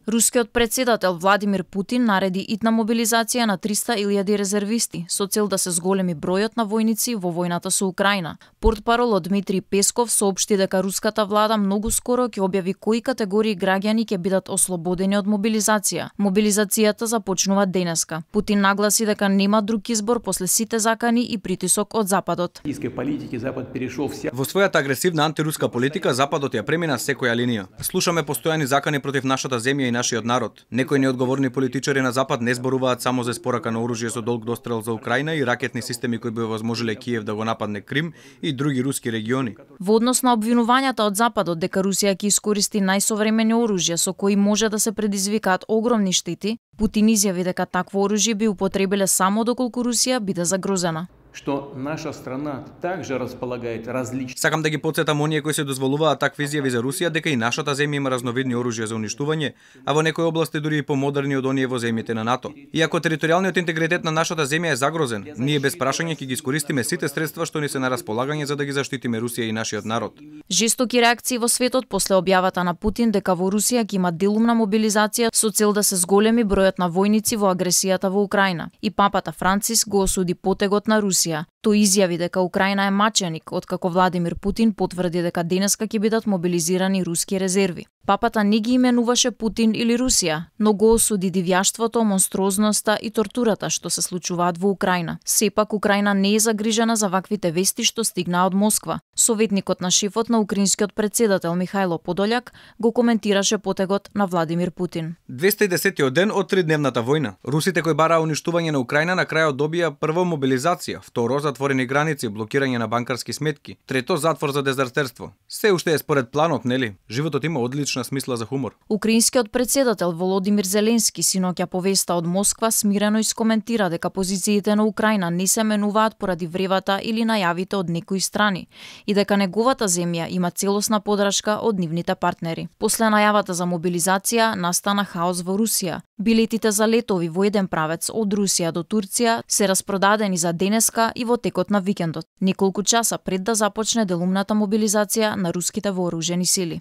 Рускиот председател Владимир Путин нареди итна мобилизација на 300.000 резервисти со цел да се зголеми бројот на војници во војната со Украина. Портпаролот Дмитрий Песков соопшти дека руската влада многу скоро ќе објави кои категории граѓани ќе бидат ослободени од мобилизација. Мобилизацијата започнува денеска. Путин нагласи дека нема друг избор после сите закани и притисок од Западот. Во својата агресивна антируска политика Западот ја премина секоја линија. Слушаме постојани закани против нашата земја и нашиот народ. Некои неодговорни политичари на Запад не зборуваат само за испорака на оружје со долг дострел за Украина и ракетни системи кои би овозможиле Киев да го нападне Крим и други руски региони. Во однос на обвинувањата од Западот дека Русија ќе искористи најсовремени оружја со кои може да се предизвикаат огромни штети, Путин изјави дека такво оружје би употребиле само доколку Русија биде загрозена. Што наша страна также располагает различни. Сакам да ги потсетам оние кои се дозволуваат такви изјави за Русија дека и нашата земја има разновидни оружја за уништување, а во некои области дури и помодерни од оние во земјите на НАТО. Иако територијалниот интегритет на нашата земја е загрозен, ние без прашање ќе ги искористиме сите средства што ни се на располагање за да ги заштитиме Русија и нашиот народ. Жестоки реакции во светот после објавата на Путин дека во Русија ќе има делумна мобилизација со цел да се зголеми бројот на војници во агресијата во Украина. И папата Франциск го осуди потегот на Русија. Тој изјави дека Украина е маченик, откако Владимир Путин потврди дека денеска ќе бидат мобилизирани руски резерви. Папата не ги именуваше Путин или Русија, но го осуди дивјаштвото, монструозноста и тортурата што се случуваат во Украина. Сепак Украина не е загрижена за ваквите вести што стигнаа од Москва. Советникот на шефот на украинскиот председател Михајло Подољак го коментираше потегот на Владимир Путин. 210-тиот ден од тридневната војна. Русите кои бараа уништување на Украина на крајот добија прво мобилизација, второ затворени граници, блокирање на банкарски сметки, трето затвор за дезертерство. Се уште е според планот, нели? Животот има одлична смисла за хумор. Украинскиот председател Володимир Зеленски синоќа повеста од Москва смирено искоментира дека позициите на Украина не се менуваат поради вревата или најавите од некои страни и дека неговата земја има целосна подршка од нивните партнери. После најавата за мобилизација настана хаос во Русија. Билетите за летови во еден правец од Русија до Турција се распродадени за денеска и во текот на викендот, неколку часа пред да започне делумната мобилизација на руските вооружени сили.